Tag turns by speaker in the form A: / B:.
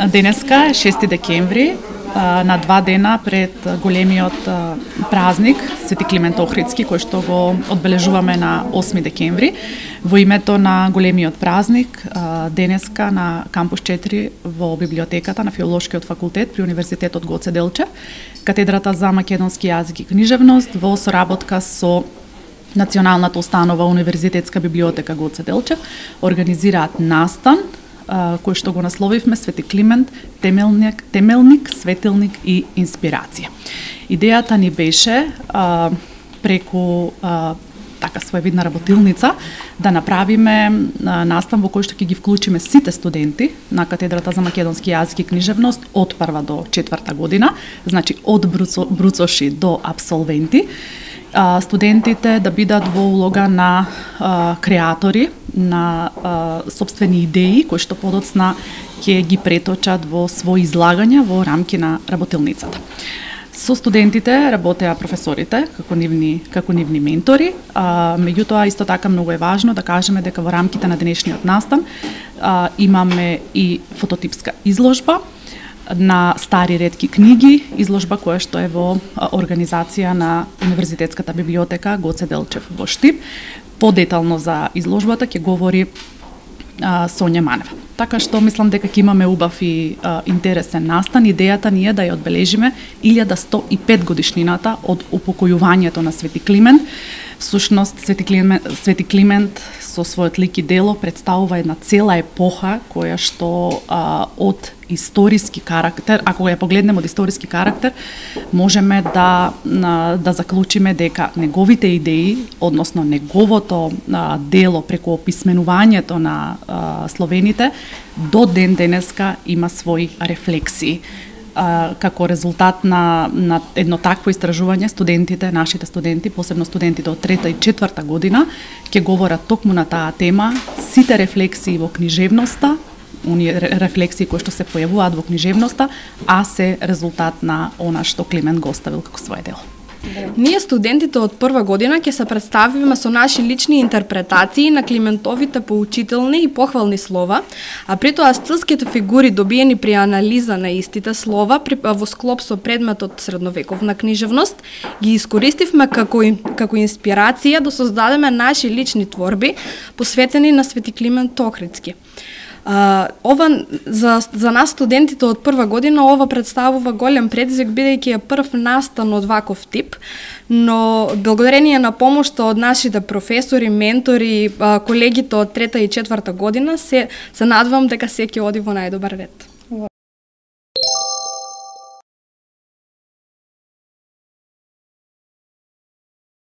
A: Денеска е 6 декември, на 2 дена пред големиот празник Свети Климент Охридски, кој што го одбележуваме на 8 декември. Во името на големиот празник, денеска на кампус 4 во библиотеката на Филолошкиот факултет при Универзитетот Гоце Делчев, катедрата за македонски јазик и книжевност во соработка со Националната установа Универзитетска библиотека Гоце Делчев организираат настан кој што го насловивме Свети Климент, темелник, светилник и инспирација. Идејата ни беше преку така своевидна работилница да направиме настан во кој што ќе ги вклучиме сите студенти на катедрата за македонски јазик и книжевност од 1 до 4 година, значи од бруцоши до апсолвенти. Студентите да бидат во улога на креатори, на сопствени идеи кои што подоцна ќе ги преточат во своји излагања во рамки на работилницата. Со студентите работеа професорите како нивни ментори, меѓутоа исто така многу е важно да кажеме дека во рамките на денешниот настан имаме и фототипска изложба на стари ретки книги, изложба која што е во организација на Универзитетската библиотека Гоце Делчев во Штип. Подетално за изложбата ќе говори Сонја Манева. Така што мислам дека ќе имаме убав и интересен настан. Идејата ни е да ја одбележиме 1105 годишнината од упокојувањето на Свети Климент. Всушност, Свети Климент со својот лик и дело представува една цела епоха која што од историски карактер, ако ја погледнеме од историски карактер, можеме да заклучиме дека неговите идеи, односно неговото дело преку описменувањето на словените, до ден денеска има своји рефлексии. Како резултат на едно такво истражување, нашите студенти, посебно студентите од 3 и 4 година, ќе говорат токму на таа тема, сите рефлексии во книжевноста, оние рефлексии кои што се појавуваат во книжевноста, а се резултат на она што Климент го оставил како свое дело.
B: Ние студентите од 1 година ќе се представиме со наши лични интерпретации на Климентовите поучителни и похвални слова, а при тоа стилските фигури добиени при анализа на истите слова во склоп со предметот средновековна книжевност ги искористивме како инспирација да создадеме наши лични творби посветени на Свети Климент Охридски. Ова за нас студентите од 1 година ова представува голем предизвик бидејќи е прв настан од ваков тип, но благодарение на помошта од нашите професори, ментори, колегите од 3 и 4 година се надевам дека се ќе оди во најдобар ред.